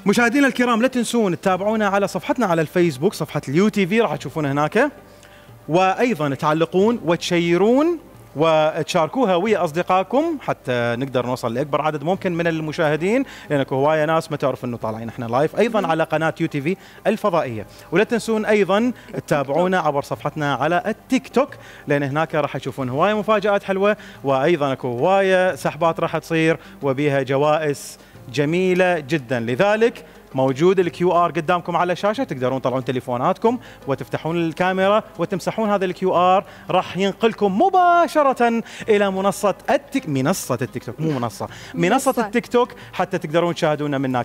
مشاهدينا الكرام لا تنسون تتابعونا على صفحتنا على الفيسبوك، صفحة اليو تي في راح تشوفونها هناك، وايضا تعلقون وتشيرون وتشاركوها ويا اصدقائكم حتى نقدر نوصل لاكبر عدد ممكن من المشاهدين، لان اكو هوايه ناس ما تعرف انه طالعين احنا لايف ايضا على قناه يو تي في الفضائيه. ولا تنسون ايضا تتابعونا عبر صفحتنا على التيك توك، لان هناك راح تشوفون هوايه مفاجات حلوه، وايضا اكو هوايه سحبات راح تصير وبيها جوائز جميله جدا. لذلك موجود الكيو ار قدامكم على الشاشه، تقدرون تطلعون تليفوناتكم وتفتحون الكاميرا وتمسحون هذا الكيو ار، راح ينقلكم مباشره الى منصه التيك توك، منصه التيك توك حتى تقدرون تشاهدونا من هناك.